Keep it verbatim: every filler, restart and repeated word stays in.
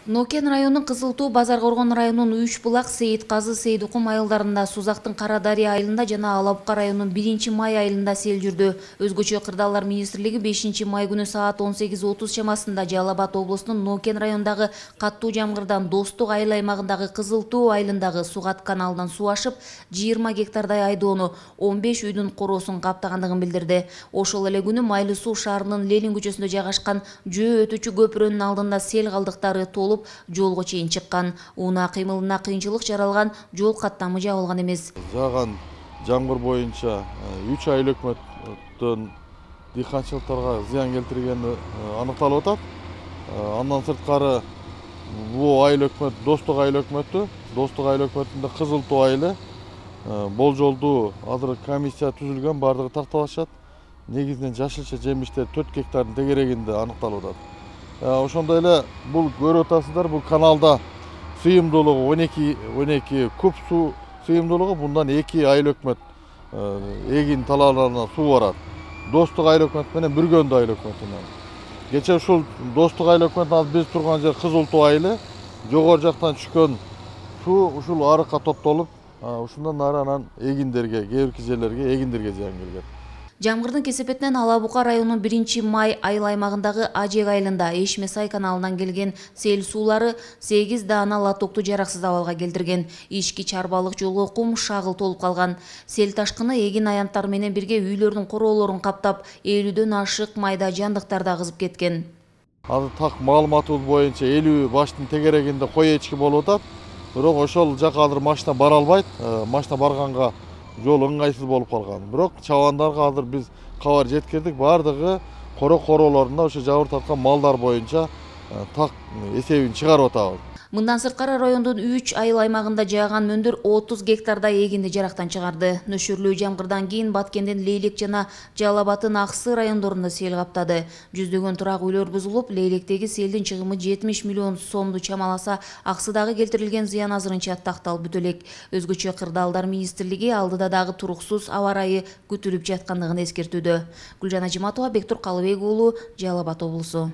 Нокен районунун Кызыл Тоо, Базар Коргон районунун Үч Булак, Сейит Казы, Сейдукум айылдарында, Сузактын Кара Дарыя айылында жана Алабука районунун биринчи май айылында сел жүрдү. Өзгөчө Кырдаалдар министрлиги бешинчи май күнү саат он сегиз отуз чамасында Жалал Абад облусунун Нокен районундагы каттуу жамгырдан Достук айыл аймагындагы Кызыл Тоо айылындагы Сугат каналынан суу ашып, жыйырма гектардай айдоону, он беш үйдүн короосун каптагандыгын билдирди. Ошол эле күнү Майлуу Суу шаарынын Ленин көчөсүндө жайгашкан жөө өтүүчү көпүрөнүн алдында сел калдыктары толуп, жолго чейин чыккан. Унаа кыймылына кыйынчылык жаралган, жол каттамы жабылган эмес. Жааган жамгыр боюнча үч айыл өкмөттөн дыйканчылыктарга зыян келтиргени аныкталып атат. Андан сырткары бул айыл өкмөт Достук айыл өкмөтү, Достук айыл өкмөтүндө Кызыл Тоо айылы болжолдуу азыр комиссия түзүлгөн, бардыгы такталышат. Негизинен жашылча жемиштер төрт гектардын тегерегинде аныкталып атат. Ошондой эле бул көрүп атасыздар, бул каналда сыйымдуулугу он эки куб суу сыйымдуулугу, bundan эки айыл өкмөт эгин талааларына суу барат. Достук айыл өкмөтү менен Бүргөндү айыл өкмөтүнөн. Кече ушул Достук айыл өкмөтүнөн биз турган жер Кызыл Тоо айылы, жогору жактан түшкөн суу ушул арыкка топтолуп, ушундан ары анан эгиндерге, кээ бирки жерлерге эгиндерге зыян келген. Жамгырдын кесепетинен Алабука районунун биринчи май айыл аймагындагы Ажек айылында Эшме Сай каналынан келген сел суулары сегиз даана лотокту жараксыз абалга келтирген. Ички чарбалык жолго кум шагыл толуп калган. Сел ташкыны эгин аянттар менен бирге үйлөрдүн короолорун каптап, элүүдөн ашык майда жандыктарды агызып кеткен. Азыр так маалыматыбыз боюнча элүү баштын тегерегинде кой эчки болуп атат. Бирок ошол жака азыр машина бара албайт. Машина барганга жол ыңгайсыз болуп калган. Бирок чабандарга азыр биз кабар жеткирдик. Бардыгы коро короолорунда ошо жабыр тарткан малдар боюнча так эсебин чыгарып атабыз. Мындан сырткары райондун үч айыл аймагында жааган мөндүр отуз гектардай эгинди жарактан чыгарды. Нөшөрлүү жамгырдан кийин Баткендин Лейлек жана Жалал Абадтын Аксы райондорунда сел каптады. Жүздөгөн турак үйлөр бузулуп, Лейлектеги селдин чыгымы жетимиш миллион сомду чамаласа, Аксыдагы келтирилген зыян азырынча такталып бүтө элек. Өзгөчө Кырдаалдар министрлиги алдыда дагы туруксуз аба ырайы күтүлүп жаткандыгын эскертүүдө. Гүлжан Ажиматова, Бектур Калыбек уулу, Жалал Абад облусу.